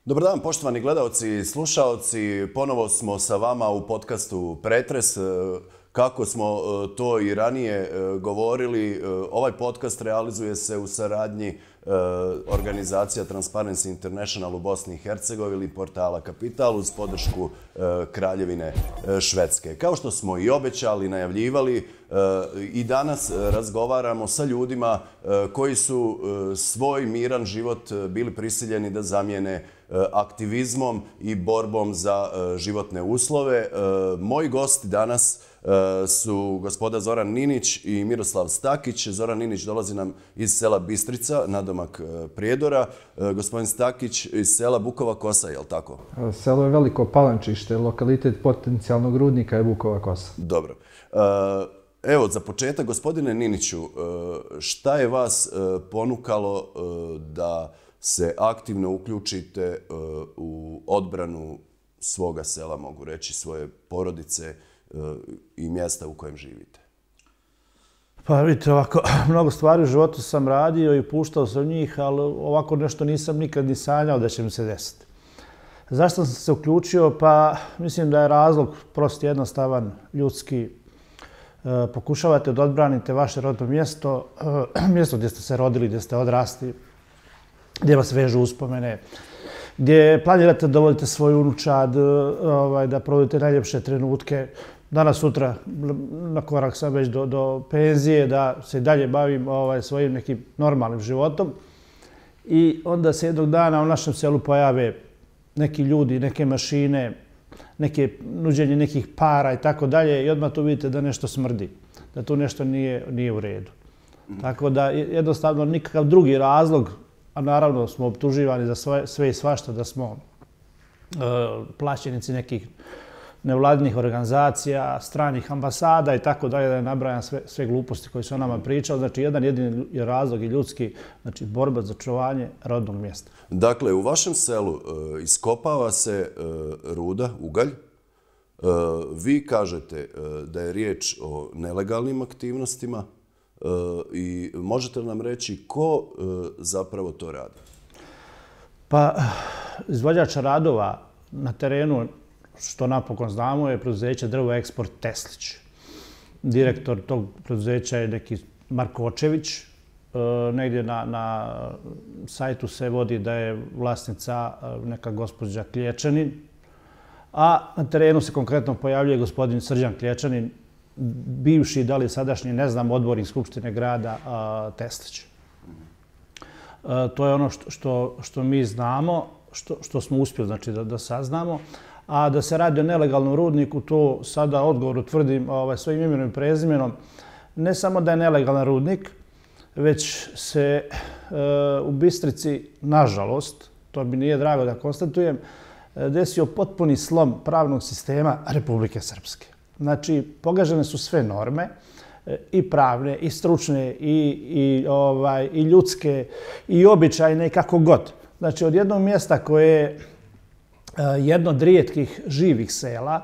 Dobar dan, poštovani gledalci i slušaoci. Ponovo smo sa vama u podcastu Pretres. Kako smo to i ranije govorili, ovaj podcast realizuje se u saradnji organizacija Transparency International u Bosni i Hercegovini, portala Kapital uz podršku Kraljevine Švedske. Kao što smo i obećali, najavljivali, i danas razgovaramo sa ljudima koji su svoj miran život bili prisiljeni da zamijene aktivizmom i borbom za životne uslove. Moji gosti danas su gospoda Zoran Ninić i Miroslav Stakić. Zoran Ninić dolazi nam iz sela Bistrica, nadomak Prijedora. Gospodin Stakić iz sela Bukova Kosa, je li tako? Selo je Veliko Palančište, lokalitet potencijalnog rudnika je Bukova Kosa. Dobro. Evo, za početak, gospodine Niniću, šta je vas ponukalo da se aktivno uključite u odbranu svoga sela, mogu reći, svoje porodice i mjesta u kojem živite? Pa vidite, ovako, mnogo stvari u životu sam radio i puštao sam njih, ali ovako nešto nisam nikad ni sanjao da će mi se desiti. Zašto sam se uključio? Pa mislim da je razlog prost, jednostavan, ljudski. Pokušavate da odbranite vaše rodno mjesto, mjesto gdje ste se rodili, gdje ste odrasli, gdje vas vežu uspomene, gdje planirate da dovodite svoj unučad, da provodite najljepše trenutke. Danas, sutra, na korak sam već do penzije, da se i dalje bavim svojim nekim normalnim životom. I onda se jednog dana u našem selu pojave neki ljudi, neke mašine, nuđenje nekih para i tako dalje i odmah tu vidite da nešto smrdi, da tu nešto nije u redu. Tako da jednostavno nikakav drugi razlog, a naravno smo optuživani za sve i svašta, da smo plaćenici nekih nevladinih organizacija, stranih ambasada i tako dalje, da je nabrajam sve gluposti koje su o nama pričali. Znači, jedan jedini razlog i ljudski, znači borba za očuvanje rodnog mjesta. Dakle, u vašem selu iskopava se ruda, ugalj. Vi kažete da je riječ o nelegalnim aktivnostima i možete li nam reći ko zapravo to radi? Pa, izvođač radova na terenu, što napokon znamo, je preduzeće Drvo Eksport Teslić. Direktor tog preduzeća je neki Markočević. Negdje na sajtu se vodi da je vlasnica neka gospođa Klječanin, a na terenu se konkretno pojavljuje gospodin Srđan Klječanin, bivši, da li sadašnji, ne znam, odbornik Skupštine grada Teslić. To je ono što mi znamo, što smo uspjeli znači, da saznamo. A da se radi o nelegalnom rudniku, to sada odgovoru tvrdim svojim imenom i prezimenom. Ne samo da je nelegalan rudnik, već se u Bistrici, nažalost, to mi nije drago da konstatujem, desio potpuni slom pravnog sistema Republike Srpske. Znači, pogažene su sve norme, i pravne, i stručne, i ljudske, i običajne, i kako god. Znači, od jednog mjesta koje je jedno od rijetkih živih sela,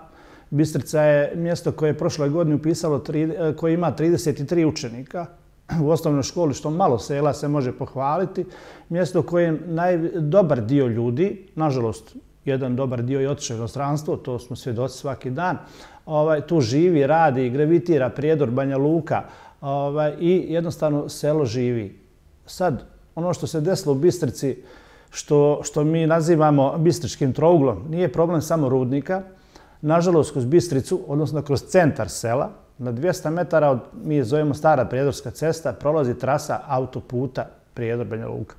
Bistrica je mjesto koje je prošle godine upisalo, koje ima 33 učenika u osnovnoj školi, što malo sela se može pohvaliti. Mjesto koje dobar dio ljudi, nažalost, jedan dobar dio je otišao u inostranstvo, to smo svjedoci svaki dan, tu živi, radi, gravitira Prijedor, Banja Luka i jednostavno selo živi. Sad, ono što se desilo u Bistrici, što mi nazivamo bistričkim trouglom, nije problem samo rudnika. Nažalost, kroz Bistricu, odnosno kroz centar sela, na 200 metara, mi je zovemo Stara Prijedorska cesta, prolazi trasa autoputa Prijedor-Banja Luka.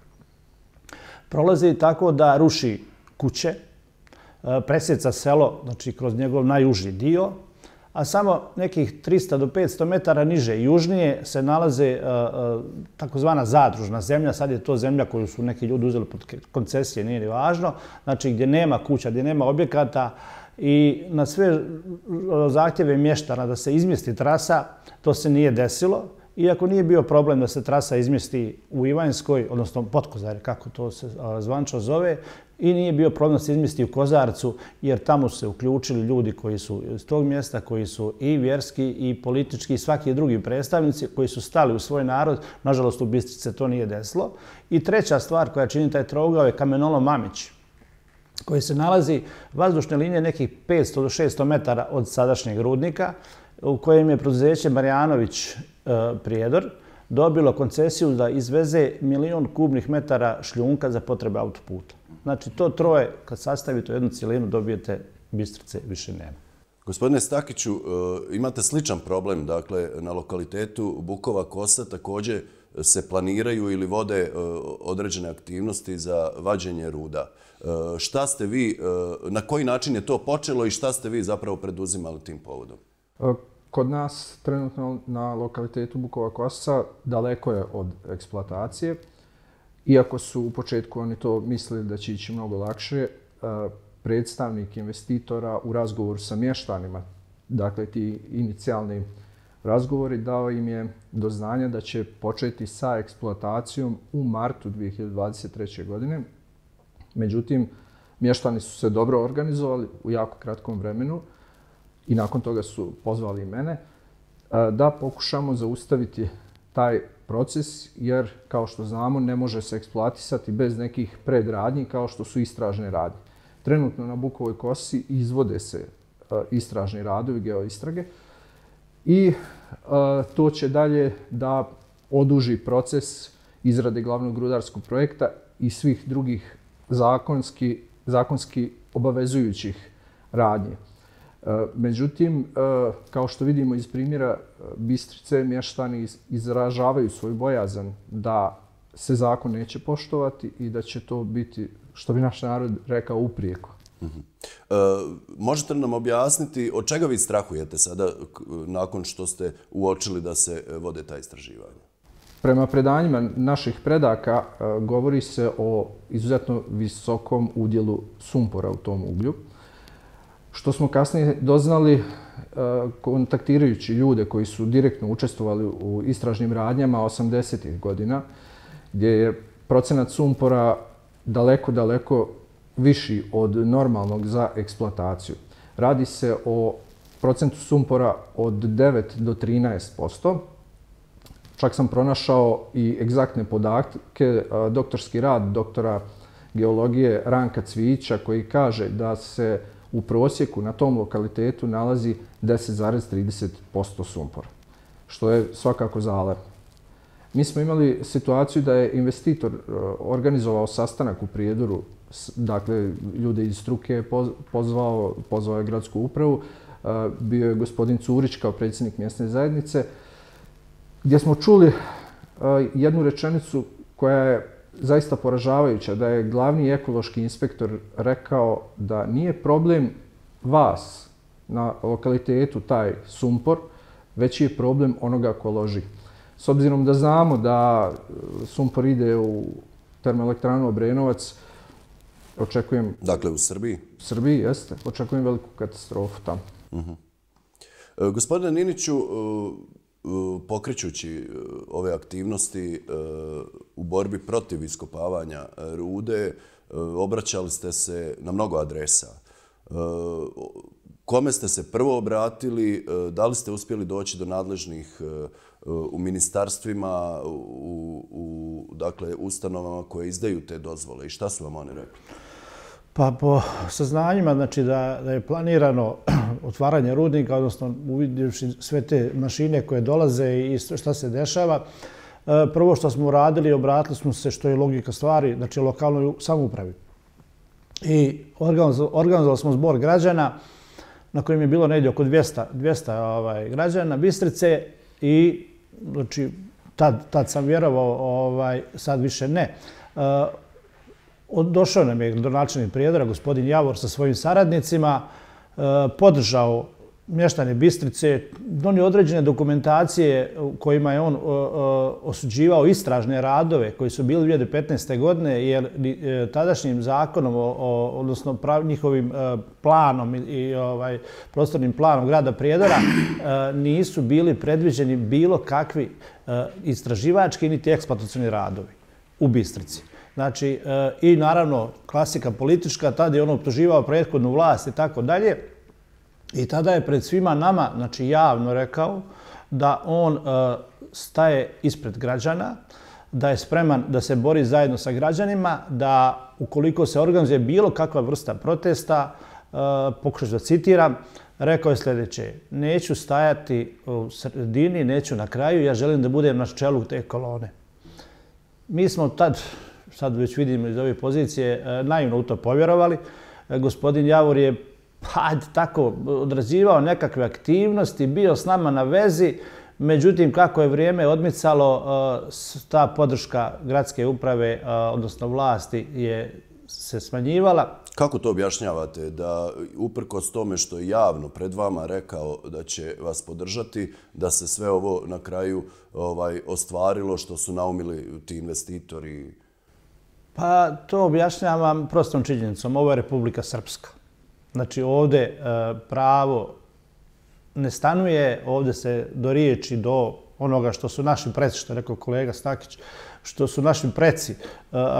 Prolazi tako da ruši kuće, presjeca selo, znači kroz njegov najuži dio, a samo nekih 300 do 500 metara niže i južnije se nalaze takozvana zadružna zemlja. Sad je to zemlja koju su neki ljudi uzeli pod koncesije, nije ni važno. Znači gdje nema kuća, gdje nema objekata i na sve zahtjeve mještana da se izmjesti trasa, to se nije desilo. Iako nije bio problem da se trasa izmjesti u Ivanjskoj, odnosno Potkozare, kako to se zvanično zove, i nije bio problem da se izmjesti u Kozarcu, jer tamo su se uključili ljudi koji su iz tog mjesta, koji su i vjerski, i politički, i svaki drugi predstavnici koji su stali u svoj narod. Nažalost, u Bistrici se to nije desilo. I treća stvar koja čini taj trougao je kamenolom Mamić. koji se nalazi vazdušne linije nekih 500 do 600 metara od sadašnjeg rudnika, u kojem je preduzeće Marjanović Prijedor dobilo koncesiju da izveze 1.000.000 kubnih metara šljunka za potrebe autoputa. Znači, to troje, kad sastavite u jednu cijelinu, dobijete Bistrice, više nema. Gospodine Stakiću, imate sličan problem, dakle, na lokalitetu Bukova Kosa također se planiraju ili vode određene aktivnosti za vađenje ruda. Šta ste vi, na koji način je to počelo i šta ste vi zapravo preduzimali tim povodom? Kod nas trenutno na lokalitetu Bukova Kosa daleko je od eksploatacije. Iako su u početku oni to mislili da će ići mnogo lakše, predstavnik investitora u razgovoru sa mještanima, dakle ti inicijalni razgovori, dao im je do znanja da će početi sa eksploatacijom u martu 2023. godine. Međutim, mještani su se dobro organizovali u jako kratkom vremenu i nakon toga su pozvali i mene da pokušamo zaustaviti taj proces, jer kao što znamo ne može se eksploatisati bez nekih predradnji kao što su istražne radnje. Trenutno na Bukovoj Kosi izvode se istražni radovi, geoistrage i to će dalje da oduži proces izrade glavnog rudarskog projekta i svih drugih zakonski obavezujućih radnji. Međutim, kao što vidimo iz primjera Bistrice, mještani izražavaju svoju bojazan da se zakon neće poštovati i da će to biti, što bi naš narod rekao, uprijeko. Možete li nam objasniti od čega vi strahujete sada nakon što ste uočili da se vode ta istraživanja? Prema predanjima naših predaka govori se o izuzetno visokom udjelu sumpora u tom uglju, što smo kasnije doznali kontaktirajući ljude koji su direktno učestvovali u istražnim radnjama 80. godina, gdje je procenat sumpora daleko viši od normalnog za eksploataciju. Radi se o procentu sumpora od 9 do 13%. Čak sam pronašao i egzaktne podatke, doktorski rad doktora geologije Ranka Cvijića koji kaže da se u prosjeku na tom lokalitetu nalazi 10,30% sumpora, što je svakako zalarmno. Mi smo imali situaciju da je investitor organizovao sastanak u Prijedoru, dakle ljude iz struke je pozvao je gradsku upravu, bio je gospodin Curić kao predsjednik mjesne zajednice, gdje smo čuli jednu rečenicu koja je zaista poražavajuća, da je glavni ekološki inspektor rekao da nije problem vas na lokalitetu taj sumpor, već je problem onoga ko loži. S obzirom da znamo da sumpor ide u termoelektranu Obrenovac, očekujem... Dakle, u Srbiji? U Srbiji, jeste. Očekujem veliku katastrofu tamo. Gospodine Niniću, pokrećući ove aktivnosti u borbi protiv iskopavanja rude, obraćali ste se na mnogo adresa. Kome ste se prvo obratili? Da li ste uspjeli doći do nadležnih u ministarstvima, u dakle, ustanovama koje izdaju te dozvole i šta su vam oni rekli? Pa po saznanjima, znači da je planirano otvaranje rudnika, odnosno uvidjevši sve te mašine koje dolaze i šta se dešava, prvo što smo uradili, obratili smo se, što je logika stvari, znači lokalnoj samoupravi. I organizovali smo zbor građana na kojem je bilo negdje oko 200 građana Bistrice i znači, tad sam vjerovao, sad više ne. Došao nam je gradonačelnik Prijedora, gospodin Javor, sa svojim saradnicima, podržao mještane Bistrice, donio određene dokumentacije u kojima je on osuđivao istražne radove koji su bili 2015. godine, jer tadašnjim zakonom, odnosno njihovim planom i prostornim planom grada Prijedora nisu bili predviđeni bilo kakvi istraživački niti eksploatacioni radovi u Bistrici. Znači, i naravno, klasika politička, tada je on optuživao prethodnu vlast i tako dalje. I tada je pred svima nama, znači javno rekao, da on staje ispred građana, da je spreman da se bori zajedno sa građanima, da ukoliko se organizuje bilo kakva vrsta protesta, pokušat da citiram, rekao je sljedeće: neću stajati u sredini, neću na kraju, ja želim da budem na čelu te kolone. Mi smo sad već vidimo iz ove pozicije, naivno u to povjerovali. Gospodin Javor je tako odrađivao nekakve aktivnosti, bio s nama na vezi, međutim kako je vrijeme odmicalo, ta podrška gradske uprave, odnosno vlasti, se smanjivala. Kako to objašnjavate da uprkos tome što je javno pred vama rekao da će vas podržati, da se sve ovo na kraju ostvarilo što su naumili ti investitori? Pa to objašnjavam prostom činjenicom. Ovo je Republika Srpska. Znači ovdje pravo ne stanuje, ovdje se do riječi, do onoga što su naši preci, što je rekao kolega Stakić, što su naši preci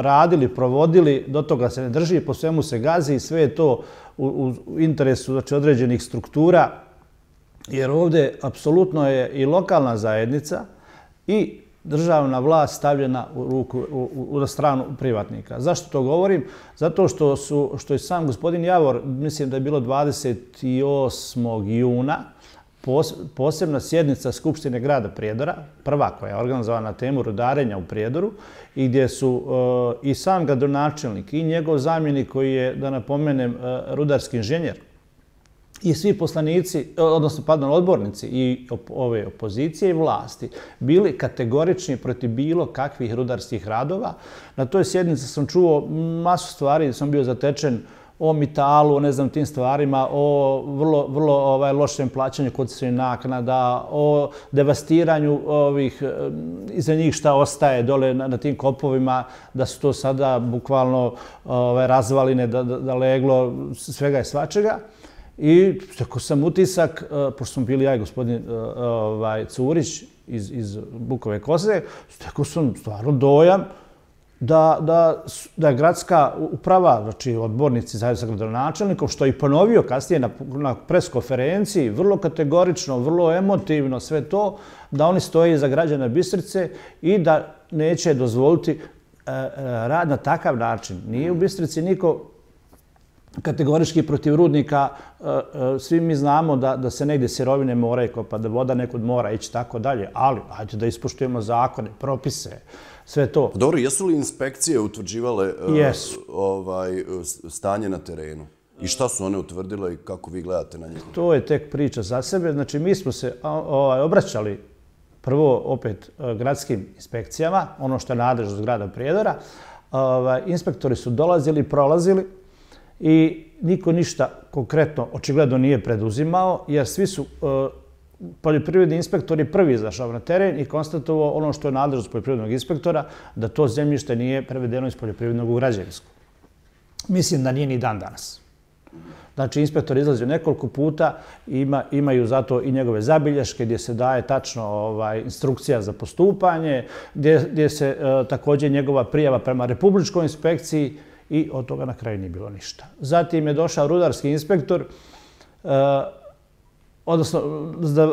radili, provodili, do toga se ne drži, po svemu se gazi i sve je to u interesu, znači, određenih struktura, jer ovdje apsolutno je i lokalna zajednica i državna vlast stavljena na stranu privatnika. Zašto to govorim? Zato što je sam gospodin Javor, mislim da je bilo 28. juna, posebna sjednica Skupštine grada Prijedora, prva koja je organizovana na temu rudarenja u Prijedoru, i gdje su i sam gradonačelnik i njegov zamjenik koji je, da napomenem, rudarski inženjer, i svi poslanici, odnosno odbornici i ove opozicije i vlasti bili kategorični protiv bilo kakvih rudarskih radova. Na toj sjednici sam čuo masu stvari, sam bio zatečen o mitalu, o ne znam tim stvarima, o vrlo lošem plaćanju koncesijskih naknada, o devastiranju ovih, iza njih šta ostaje dole na tim kopovima, da su to sada bukvalno razvaline, da leglo svega i svačega. I stekao sam utisak, pošto smo bili ja i gospodin Curić iz Bukove Koze, stekao sam stvarno dojam da je gradska uprava, znači odbornici zajedno sa gradonačelnikom, što je i ponovio kasnije na preskonferenciji, vrlo kategorično, vrlo emotivno sve to, da oni stoje iza građana Bistrice i da neće dozvoliti rad na takav način. Nije u Bistrici niko kategorički protiv rudnika. Svi mi znamo da se negdje sirovine moraju kopati, da voda nekud mora ići tako dalje, ali hajde da ispoštujemo zakone, propise, sve to. Dobro, jesu li inspekcije utvrđivale stanje na terenu? I šta su one utvrdile i kako vi gledate na njih? To je tek priča za sebe. Znači, mi smo se obraćali prvo opet gradskim inspekcijama, ono što je nadležnost grada Prijedora. Inspektori su dolazili, prolazili i niko ništa konkretno očigledno nije preduzimao, jer svi su poljoprivredni inspektori prvi izašao na teren i konstatovao ono što je nadležnost poljoprivrednog inspektora, da to zemljište nije prevedeno iz poljoprivrednog u građevinsko. Mislim da nije ni dan danas. Znači, inspektor izlazi nekoliko puta, imaju zato i njegove zabilješke gdje se daje tačno instrukcija za postupanje, gdje se također njegova prijava prema Republičkoj inspekciji, i od toga na kraju nije bilo ništa. Zatim je došao rudarski inspektor, odnosno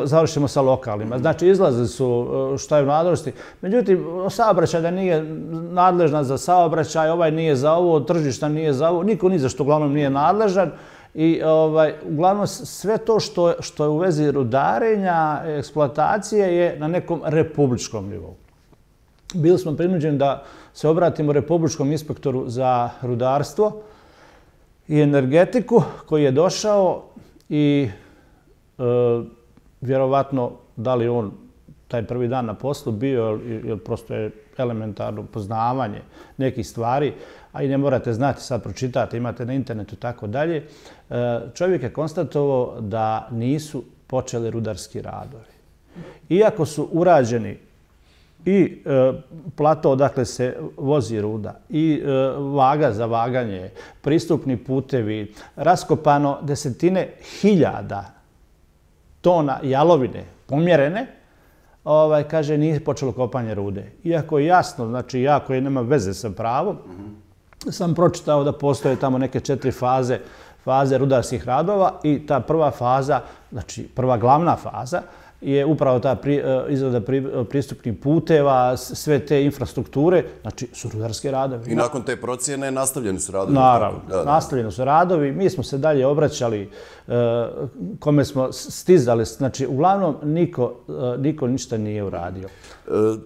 završimo sa lokalima. Znači, izlazili su šta je u nadležnosti. Međutim, saobraćaj da nije nadležna za saobraćaj, ovaj nije za ovo, tržišta nije za ovo, niko ni za što uglavnom nije nadležan. I uglavnom sve to što je u vezi rudarenja, eksploatacije je na nekom republičkom nivou. Bili smo prinuđeni da se obratimo Republičkom inspektoru za rudarstvo i energetiku koji je došao i vjerovatno da li on taj prvi dan na poslu bio, jer prosto je elementarno poznavanje nekih stvari, a i ne morate znati, sad pročitate, imate na internetu i tako dalje. Čovjek je konstatovao da nisu počeli rudarski radovi. Iako su urađeni i plato odakle se vozi ruda, i vaga za vaganje, pristupni putevi, raskopano desetine hiljada tona jalovine pomjerene, kaže, nije počelo kopanje rude. Iako je jasno, znači ja koji nema veze sa pravom, sam pročitao da postoje tamo neke 4 faze rudarskih radova i ta prva faza, znači prva glavna faza, je upravo ta izrada pristupnih puteva, sve te infrastrukture, znači su rudarske radovi. I nakon te procjene nastavljeni su radovi? Naravno, nastavljeni su radovi. Mi smo se dalje obraćali, kome smo stizali, znači uglavnom niko ništa nije uradio.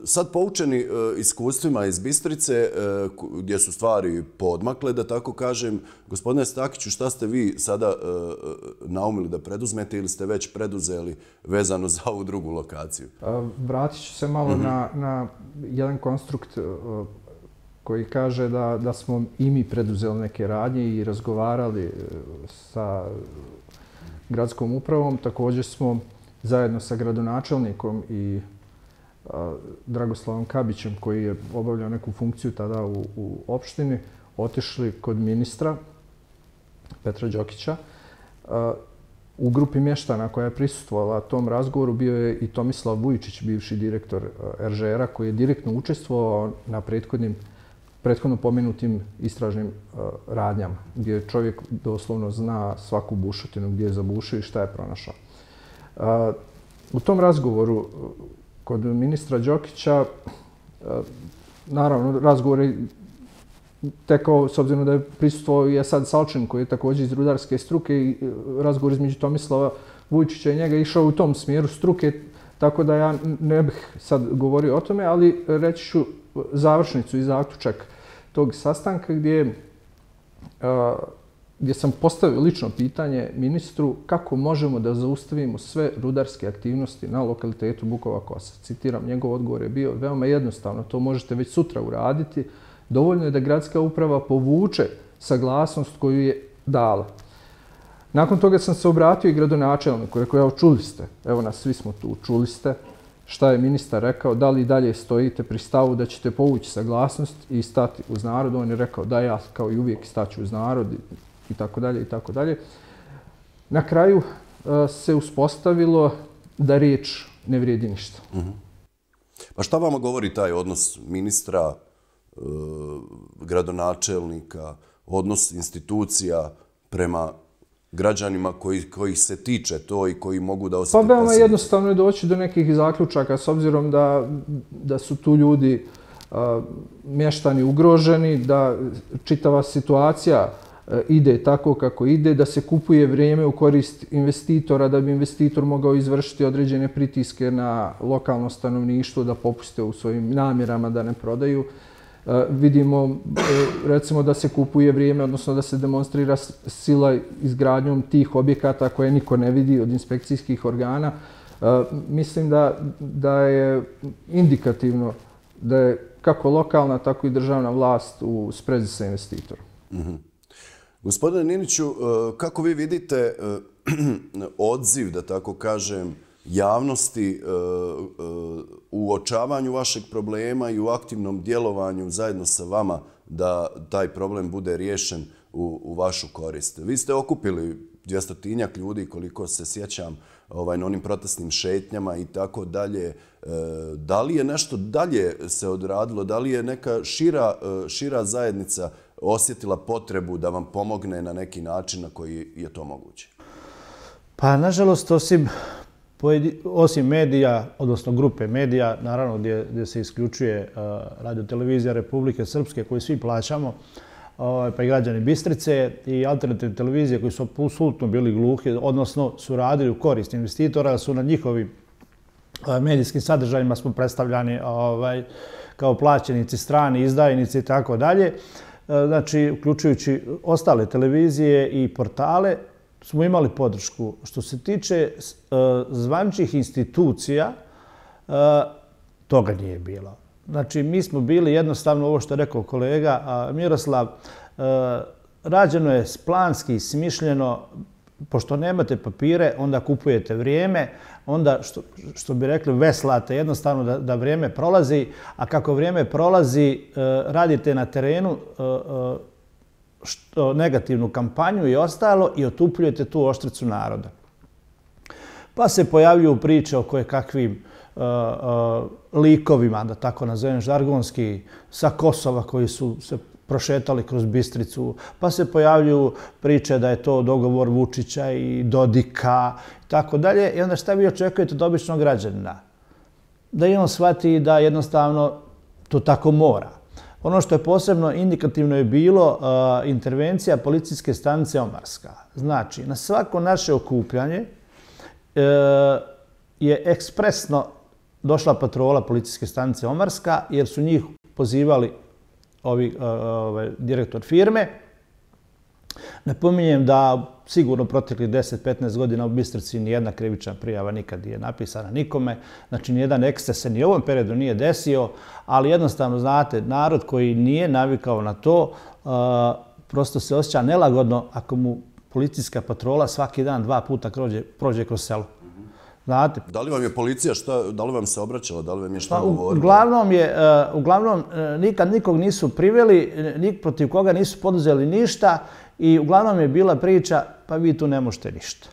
Sad poučeni iskustvima iz Bistrice, gdje su stvari poodmakle, da tako kažem, gospodine Stakiću, šta ste vi sada naumili da preduzmete ili ste već preduzeli vezano za ovu drugu lokaciju? Vratit ću se malo na jedan konstrukt koji kaže da smo i mi preduzeli neke radnje i razgovarali sa gradskom upravom. Također smo zajedno sa gradonačelnikom i Dragoslavom Kabićem, koji je obavljao neku funkciju tada u opštini, otišli kod ministra Petra Đokića. U grupi mještana koja je prisustvovala tom razgovoru bio je i Tomislav Vujičić, bivši direktor RŽR-a, koji je direktno učestvovao na prethodno pomenutim istražnim radnjama, gdje čovjek doslovno zna svaku bušotinu, gdje je zabušio i šta je pronašao. U tom razgovoru kod ministra Đokića, naravno, razgovor je tekao, s obzirom da je prisustvovao i Esad Salčin, koji je također iz rudarske struke, i razgovor između Tomislava Vujičića i njega išao u tom smjeru struke, tako da ja ne bih sad govorio o tome, ali reći ću završnicu i zaključak tog sastanka gdje sam postavio lično pitanje ministru kako možemo da zaustavimo sve rudarske aktivnosti na lokalitetu Bukova Kosa. Citiram, njegov odgovor je bio veoma jednostavno, to možete već sutra uraditi. Dovoljno je da gradska uprava povuče saglasnost koju je dala. Nakon toga sam se obratio i gradonačelniku, rekao, evo čuli ste, evo nas svi smo tu, čuli ste šta je ministar rekao, da li dalje stojite pri stavu da ćete povući saglasnost i stati uz narod. On je rekao da ja kao i uvijek staću uz narod i tako dalje i tako dalje. Na kraju se uspostavilo da riječ ne vrijedi ništa. Pa šta vama govori taj odnos ministra, gradonačelnika, odnos institucija prema građanima kojih se tiče to i koji mogu da osjete posljedice? Pa veoma jednostavno je doći do nekih zaključaka, s obzirom da su tu ljudi mještani ugroženi, da čitava situacija ide tako kako ide, da se kupuje vrijeme u korist investitora, da bi investitor mogao izvršiti određene pritiske na lokalno stanovništvo, da popuste u svojim namjerama, da ne prodaju. Vidimo, recimo, da se kupuje vrijeme, odnosno da se demonstrira sila izgradnjom tih objekata koje niko ne vidi od inspekcijskih organa. Mislim da je indikativno da je kako lokalna, tako i državna vlast u sprezi sa investitorom. Gospodine Niniću, kako vi vidite odziv, da tako kažem, javnosti u uočavanju vašeg problema i u aktivnom djelovanju zajedno sa vama da taj problem bude riješen u vašu korist? Vi ste okupili 200-tinjak ljudi, koliko se sjećam, na onim protestnim šetnjama i tako dalje. Da li je nešto dalje se odradilo? Da li je neka šira zajednica osjetila potrebu da vam pomogne na neki način na koji je to moguće? Pa, nažalost, osim medija, odnosno grupe medija, naravno gdje se isključuje radiotelevizija Republike Srpske koju svi plaćamo, pa i građani Bistrice, i alternativne televizije koji su apsolutno bili gluhi, odnosno su radili u korist investitora, su na njihovim medijskim sadržajima smo predstavljani kao plaćenici, strani, izdajnici i tako dalje. Znači, uključujući ostale televizije i portale, smo imali podršku. Što se tiče zvaničnih institucija, toga nije bilo. Znači, mi smo bili jednostavno, ovo što je rekao kolega Miroslav, rađeno je planski, smišljeno, pošto nemate papire, onda kupujete vrijeme, onda, što bi rekli, veslate jednostavno da vrijeme prolazi, a kako vrijeme prolazi, radite na terenu negativnu kampanju i ostalo i otupljujete tu oštricu naroda. Pa se pojavljuju priče o kojekakvim likovima, da tako nazovem žargonski, sa Kosova koji su se prošetali kroz Bistricu, pa se pojavljuju priče da je to dogovor Vučića i Dodika i tako dalje. I onda šta vi očekujete od običnog građanina? Da i on shvati da jednostavno to tako mora. Ono što je posebno indikativno je bilo intervencija policijske stanice Omarska. Znači, na svako naše okupljanje je ekspresno došla patrola policijske stanice Omarska jer su njih pozivali direktor firme. Napominjem da sigurno proteklih 10-15 godina u Bistrici nijedna krivična prijava nikad nije napisana nikome. Znači, nijedan eksces se ni u ovom periodu nije desio, ali jednostavno, znate, narod koji nije navikao na to, prosto se osjeća nelagodno ako mu policijska patrola svaki dan 2 puta prođe kroz selo. Znate. Da li vam je policija da li vam se obraćala, da li vam je šta govorila? Uglavnom, nikad nikog nisu priveli, protiv koga nisu poduzeli ništa i uglavnom je bila priča, pa vi tu ne možete ništa.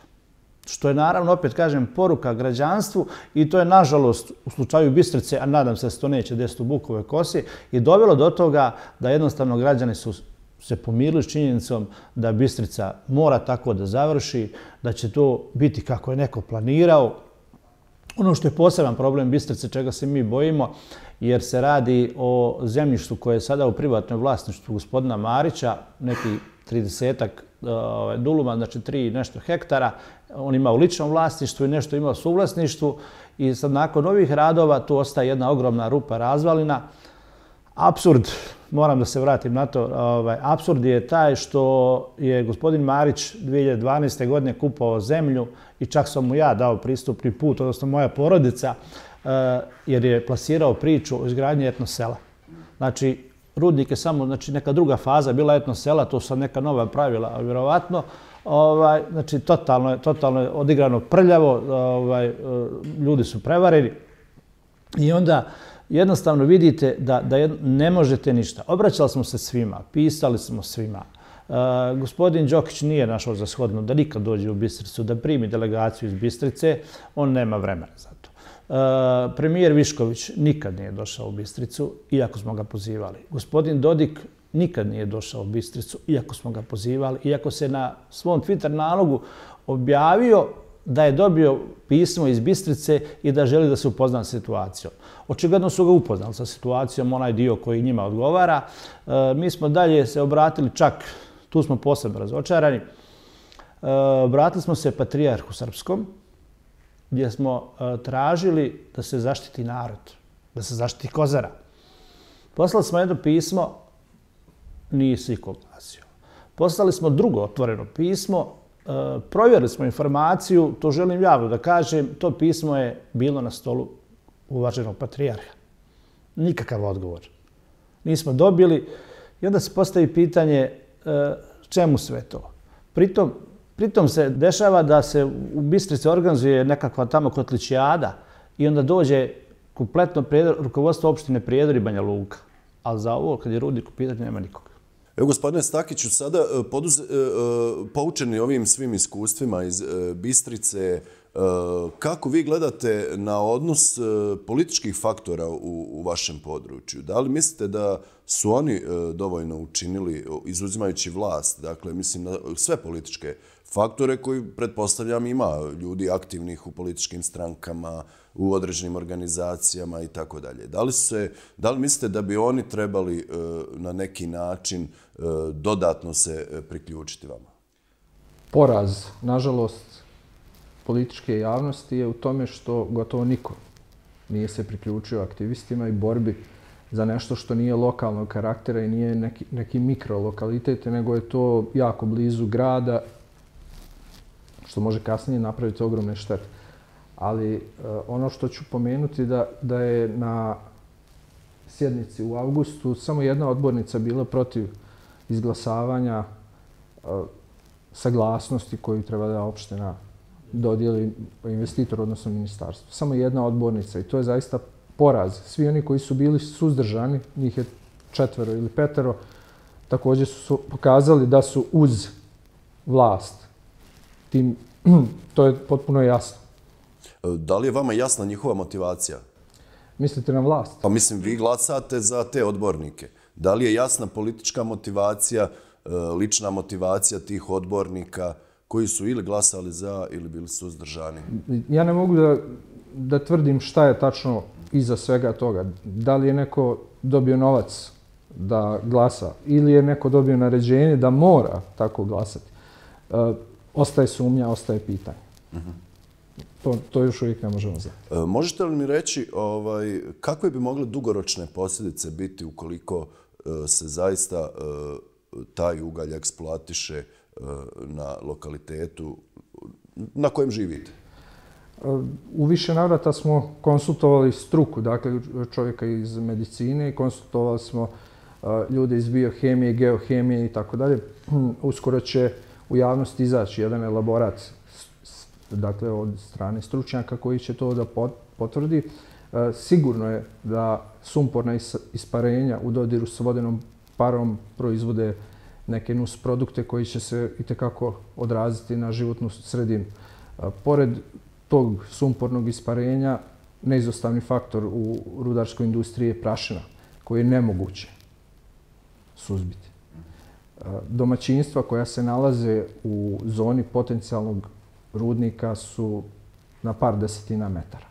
Što je naravno, opet kažem, poruka građanstvu i to je nažalost u slučaju Bistrice, a nadam se da se to neće desiti u Bukovoj Kosi, i dovelo do toga da jednostavno građani su se pomirili s činjenicom da Bistrica mora tako da završi, da će to biti kako je neko planirao. Ono što je poseban problem Bistrice, čega se mi bojimo, jer se radi o zemljištu koje je sada u privatnom vlasništvu gospodina Marića, neki 30-ak duluma, znači 3 nešto hektara. On ima u ličnom vlasništvu i nešto ima u suvlasništvu. I sad nakon ovih radova tu ostaje jedna ogromna rupa razvalina. Apsurd, moram da se vratim na to, apsurd je taj što je gospodin Marić 2012. godine kupovao zemlju i čak sam mu ja dao pristupni put, odnosno moja porodica, jer je plasirao priču o izgradnji etnosela. Znači, rudnik je samo neka druga faza bila etnosela, to su sad neka nova pravila, vjerovatno. Znači, totalno je odigrano prljavo, ljudi su prevareni i onda jednostavno vidite da ne možete ništa. Obraćali smo se svima, pisali smo svima. Gospodin Đokić nije našao za shodno da nikad dođe u Bistricu, da primi delegaciju iz Bistrice, on nema vremena za to. Premijer Višković nikad nije došao u Bistricu, iako smo ga pozivali. Gospodin Dodik nikad nije došao u Bistricu, iako smo ga pozivali, iako se na svom Twitter nalogu objavio da je dobio pismo iz Bistrice i da želi da se upozna s situacijom. Očigledno su ga upoznali sa situacijom, onaj dio koji njima odgovara. Mi smo dalje se obratili, čak tu smo posebno razočarani, obratili smo se Patrijarhu Srpskom, gdje smo tražili da se zaštiti narod, da se zaštiti Kozara. Poslali smo jedno pismo, nije se iko oglasio. Poslali smo drugo otvoreno pismo, provjerili smo informaciju, to želim javno da kažem, to pismo je bilo na stolu uvaženog patrijarha. Nikakav odgovor. Nismo dobili i onda se postavi pitanje čemu sve to. Pritom se dešava da se u Bistrici organizuje nekakva tamo kotličijada i onda dođe kompletno rukovodstvo opštine Prijedor i Banja Luka. Ali za ovo, kad je rudnik u pitanju, nema nikoga. Evo, gospodine Stakiću, sada poučeni ovim svim iskustvima iz Bistrice, kako vi gledate na odnos političkih faktora u vašem području? Da li mislite da su oni dovoljno učinili, izuzimajući vlast, dakle, mislim na sve političke faktore koji, pretpostavljam, ima ljudi aktivnih u političkim strankama, u određenim organizacijama i tako dalje. Da li mislite da bi oni trebali na neki način dodatno se priključiti vama? Poraz, nažalost, političke javnosti je u tome što gotovo niko nije se priključio aktivistima i borbi za nešto što nije lokalnog karaktera i nije neki mikrolokalitet, nego je to jako blizu grada, što može kasnije napraviti ogromne štete. Ali ono što ću pomenuti da je na sjednici u avgustu samo jedna odbornica bila protiv izglasavanja saglasnosti koju treba da opština dodijeli investitor, odnosno ministarstvo. Samo jedna odbornica i to je zaista poraz. Svi oni koji su bili suzdržani, njih je 4 ili 5, također su pokazali da su uz vlast. To je potpuno jasno. Da li je vama jasna njihova motivacija? Mislite na vlast? Pa mislim, vi glasate za te odbornike. Da li je jasna politička motivacija, lična motivacija tih odbornika koji su ili glasali za ili bili suzdržani? Ja ne mogu da tvrdim šta je tačno iza svega toga. Da li je neko dobio novac da glasa ili je neko dobio naređenje da mora tako glasati. Ostaje sumnja, ostaje pitanje. To još uvijek ne možemo znati. Možete li mi reći kakve bi mogle dugoročne posljedice biti ukoliko se zaista taj ugalj eksploatiše na lokalitetu na kojem živite? U više navrata smo konsultovali struku, dakle čovjeka iz medicine, konsultovali smo ljude iz biohemije, geohemije i tako dalje. Uskoro će u javnosti izaći jedan elaborat, dakle od strane stručnjaka koji će to da potvrdi. Sigurno je da sumporna isparenja u dodiru s vodenom parom proizvode neke nusprodukte koji će se itekako odraziti na životnu sredinu. Pored tog sumpornog isparenja, neizostavni faktor u rudarskoj industriji je prašina, koju je nemoguće suzbiti. Domaćinstva koja se nalaze u zoni potencijalnog rudnika su na par desetina metara.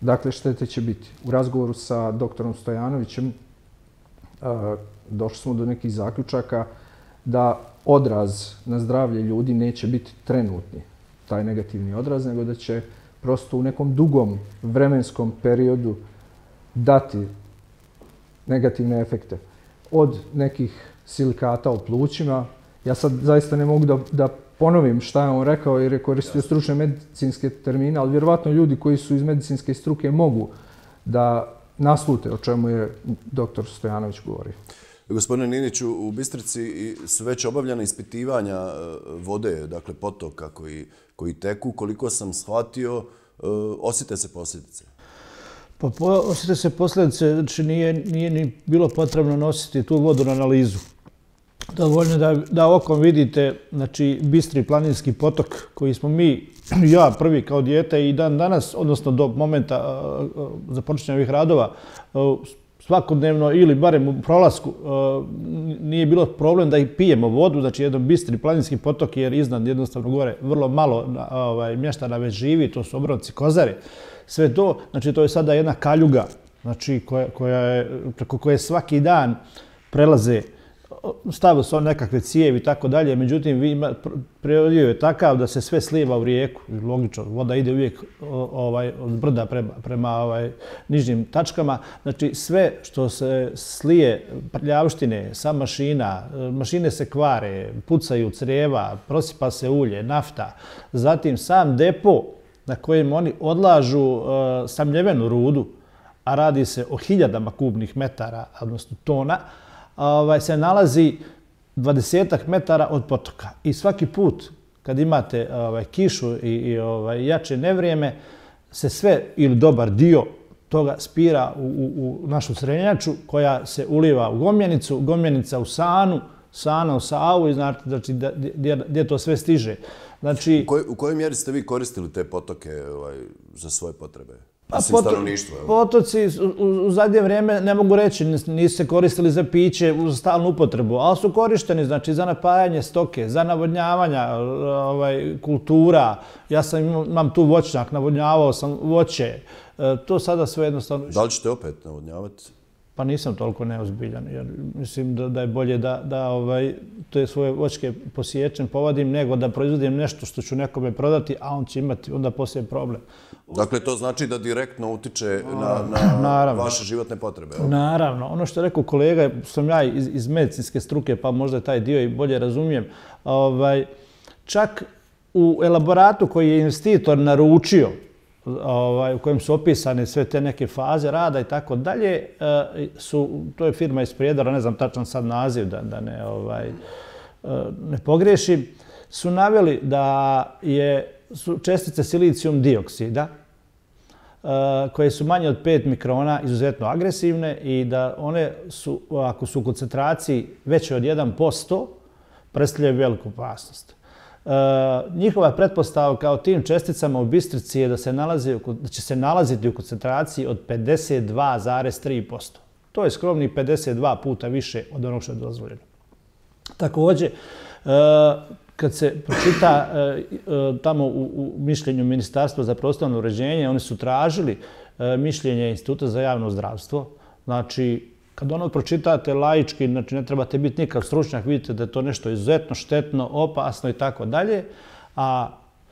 Dakle, štete će biti. U razgovoru sa doktorom Stojanovićem došli smo do nekih zaključaka da odraz na zdravlje ljudi neće biti trenutni, taj negativni odraz, nego da će prosto u nekom dugom vremenskom periodu dati negativne efekte. Od nekih silikata u plućima, ja sad zaista ne mogu da ponovim šta je on rekao jer je koristio stručne medicinske termine, ali vjerovatno ljudi koji su iz medicinske struke mogu da naslute o čemu je doktor Stojanović govorio. Gospodine Niniću, u Bistrici su već obavljena ispitivanja vode, dakle potoka koji teku. Koliko sam shvatio, osjete se posljedice? Pa osjete se posljedice, znači nije ni bilo potrebno nositi tu vodu na analizu. Dovoljno da okom vidite, znači, bistri planinski potok koji smo mi, ja prvi kao dijete i dan danas, odnosno do momenta započinjanja ovih radova, svakodnevno ili barem u prolasku nije bilo problem da i pijemo vodu, znači jedan bistri planinski potok jer iznad jednostavno gore vrlo malo mještana već živi, to su obronci Kozare. Sve to, znači to je sada jedna kaljuga, znači preko koje svaki dan prelaze, stavili su nekakve cijevi i tako dalje, međutim prirodio je takav da se sve slijeva u rijeku, logično, voda ide uvijek od brda prema nižnim tačkama, znači sve što se slije prljavštine sa mašina, mašine se kvare, pucaju crijeva, prosipa se ulje, nafta, zatim sam depo na kojem oni odlažu samljevenu rudu, a radi se o hiljadama kubnih metara, odnosno tona, se nalazi 20 metara od potoka. I svaki put kad imate kišu i jače nevrijeme, se sve ili dobar dio toga spira u našu Srenjaču koja se uliva u Gomjenicu, Gomjenica u Sanu, Sana u Savu i znači gdje to sve stiže. Znači, u kojoj mjeri ste vi koristili te potoke za svoje potrebe? Potoci u zadnje vrijeme, ne mogu reći, nisu se koristili za piće u stalnu upotrebu, ali su korišteni znači, za napajanje stoke, za navodnjavanja kultura. Ja imam tu voćnjak, navodnjavao sam voće. To sada sve jednostavno... Da li ćete opet navodnjavati? Pa nisam toliko neozbiljan, jer mislim da je bolje da te svoje voćke posiječem, povadim, nego da proizvodim nešto što ću nekome prodati, a on će imati onda poslije problem. Dakle, to znači da direktno utiče na vaše životne potrebe? Naravno. Ono što je rekao kolega, sam ja iz medicinske struke, pa možda taj dio i bolje razumijem, čak u elaboratu koji je investitor naručio, u kojem su opisane sve te neke faze rada i tako dalje, to je firma iz Prijedora, ne znam tačan sad naziv da ne pogriješim, su naveli da su čestice silicijum dioksida koje su manje od 5 mikrona izuzetno agresivne i da one su, ako su u koncentraciji veće od 1%, predstavljaju veliku opasnost. Njihova pretpostavka o tim česticama u Bistrici je da će se nalaziti u koncentraciji od 52,3%. To je skromnih 52 puta više od onog što je dozvoljeno. Također, kad se pročita tamo u mišljenju Ministarstva za prostorno uređenje, oni su tražili mišljenje Instituta za javno zdravstvo. Znači, kad ono pročitate laički, znači ne trebate biti nikakav stručnjak, vidite da je to nešto izuzetno štetno, opasno i tako dalje. A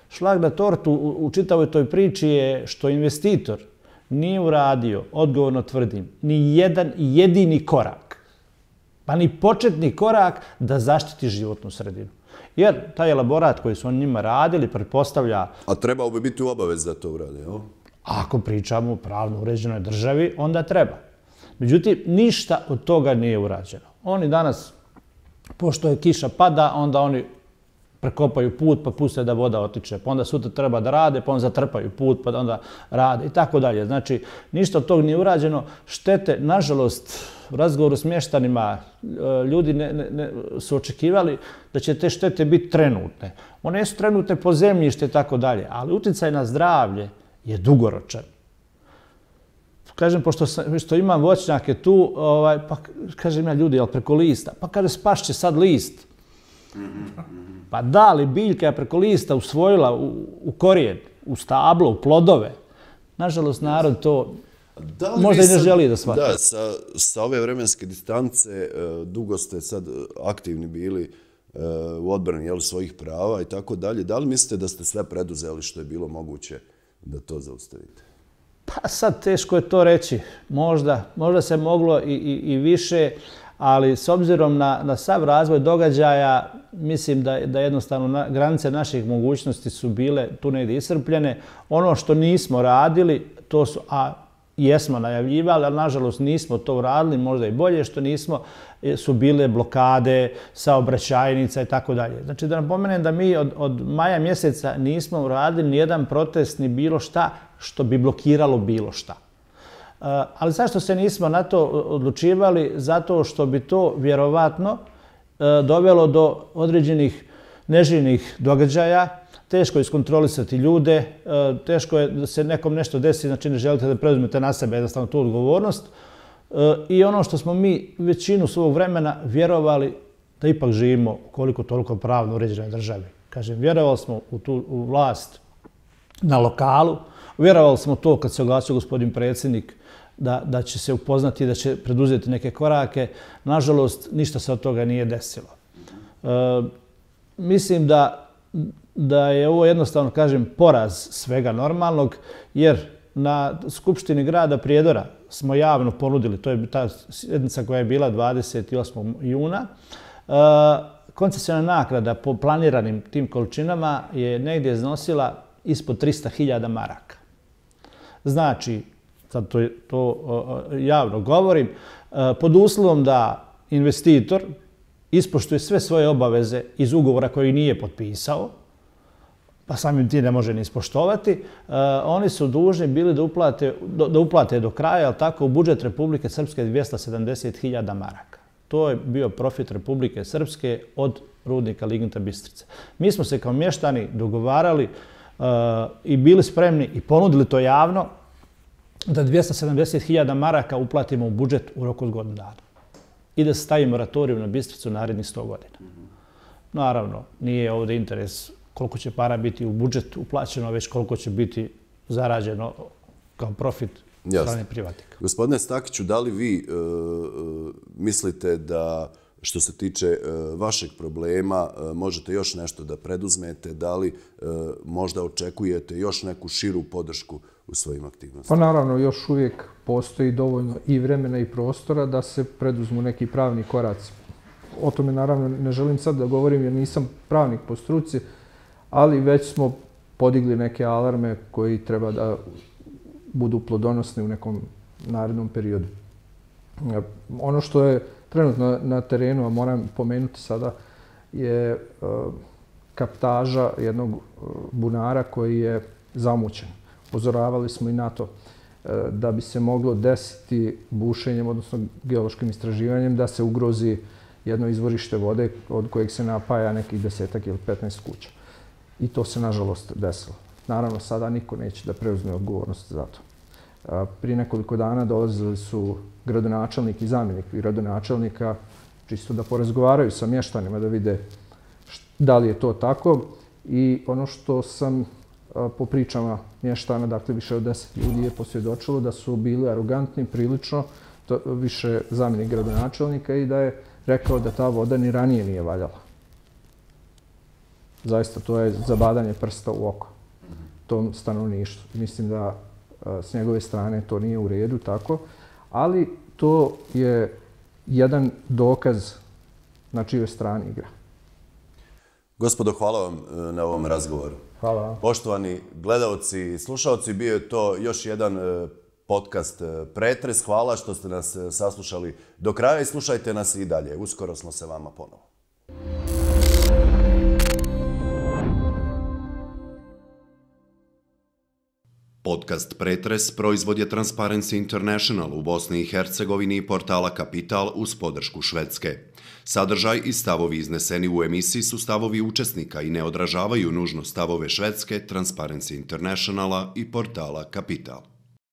šlag na tortu u čitavoj toj priči je što investitor nije uradio, odgovorno tvrdim, ni jedan jedini korak, pa ni početni korak da zaštiti životnu sredinu. Jer taj elaborat koji su oni njima radili pretpostavlja... A trebao bi biti u obavezi da to uradi, jel? Ako pričamo o pravno uređenoj državi, onda treba. Međutim, ništa od toga nije urađeno. Oni danas, pošto je kiša pada, onda oni prekopaju put pa puste da voda otiče. Pa onda sutra treba da rade, pa onda zatrpaju put, pa onda rade i tako dalje. Znači, ništa od toga nije urađeno. Štete, nažalost, u razgovoru s mještanima ljudi su očekivali da će te štete biti trenutne. One su trenutne po zemljište i tako dalje, ali utjecaj na zdravlje je dugoročan. Kažem, pošto imam voćnjake tu, pa kažem ja ljudi, jel preko lista? Pa kaže, spašće sad list. Pa da li biljka je preko lista usvojila u korijen, u stablo, u plodove? Nažalost, narod to možda i ne želi da shvati. Da, sa ove vremenske distance dugo ste sad aktivni bili u odbrani svojih prava i tako dalje. Da li mislite da ste sve preduzeli što je bilo moguće da to zaustavite? Pa sad teško je to reći. Možda se moglo i više, ali s obzirom na sav razvoj događaja, mislim da jednostavno granice naših mogućnosti su bile tu negdje iscrpljene. Ono što nismo radili, to su, a jesmo najavljivali, ali nažalost nismo to uradili, možda i bolje što nismo, su bile blokade, saobraćajnica i tako dalje. Znači da napomenem da mi od maja mjeseca nismo uradili nijedan protest ni bilo šta što bi blokiralo bilo šta. Ali zašto se nismo na to odlučivali? Zato što bi to vjerovatno dovelo do određenih neželjenih događaja, teško je iskontrolisati ljude, teško je da se nekom nešto desi, znači ne želite da preuzmete na sebe jednostavno tu odgovornost. I ono što smo mi većinu svog vremena vjerovali da ipak živimo koliko toliko pravno uređenoj državi. Kažem, vjerovali smo u vlast na lokalu, vjerovali smo to kad se oglasio gospodin predsjednik da će se upoznati i da će preduzeti neke korake. Nažalost, ništa se od toga nije desilo. Mislim da je ovo jednostavno, kažem, poraz svega normalnog, jer na Skupštini grada Prijedora smo javno ponudili, to je ta sjednica koja je bila 28. juna, koncesiona naknada po planiranim tim količinama je negdje iznosila ispod 300.000 maraka. Znači, sad to javno govorim, pod uslovom da investitor ispoštuje sve svoje obaveze iz ugovora koji nije potpisao, pa samim tim ne može ni ispoštovati, oni su dužni bili da uplate do kraja, ali tako, u budžet Republike Srpske 270.000 maraka. To je bio profit Republike Srpske od rudnika Lignita Bistrica. Mi smo se kao mještani dogovarali i bili spremni i ponudili to javno da 270.000 maraka uplatimo u budžet u roku od godinu dana i da se stavi moratorij na Bistricu narednih 100 godina. Naravno, nije ovdje interes koliko će para biti u budžet uplaćeno, već koliko će biti zarađeno kao profit strane privatnika. Gospodine Stakiću, da li vi mislite da što se tiče vašeg problema možete još nešto da preduzmete? Da li možda očekujete još neku širu podršku u svojim aktivnostima? Pa naravno, još uvijek postoji dovoljno i vremena i prostora da se preduzmu neki pravni koraci. O tome naravno ne želim sad da govorim jer nisam pravnik po struci, ali već smo podigli neke alarme koji treba da budu plodonosni u nekom narednom periodu. Ono što je trenutno na terenu, a moram pomenuti sada, je kaptaža jednog bunara koji je zamućen. Upozoravali smo i na to da bi se moglo desiti bušenjem, odnosno geološkim istraživanjem, da se ugrozi jedno izvorište vode od kojeg se napaja nekih 10 ili 15 kuća. I to se nažalost desilo. Naravno, sada niko neće da preuzme odgovornost za to. Prije nekoliko dana dolazili su gradonačelnik i zamjenik gradonačelnika čisto da porazgovaraju sa mještanima, da vide da li je to tako. I ono što sam po pričama mještana, dakle više od 10 ljudi je posvjedočilo da su bili arogantni prilično, više zamjenik gradonačelnika, i da je rekao da ta voda ni ranije nije valjala. Zaista, to je zabadanje prsta u oko tom stanovništvu. Mislim da s njegove strane to nije u redu tako, ali to je jedan dokaz na čijoj strani igra. Gospodo, hvala vam na ovom razgovoru. Hvala. Poštovani gledaoci i slušaoci, bio je to još jedan podcast Pretres. Hvala što ste nas saslušali do kraja i slušajte nas i dalje. Uskoro smo se vama ponovo. Podcast Pretres proizvod je Transparency International u Bosni i Hercegovini i portala Kapital uz podršku Švedske. Sadržaj i stavovi izneseni u emisiji su stavovi učesnika i ne odražavaju nužno stavove Švedske, Transparency Internationala i portala Kapital.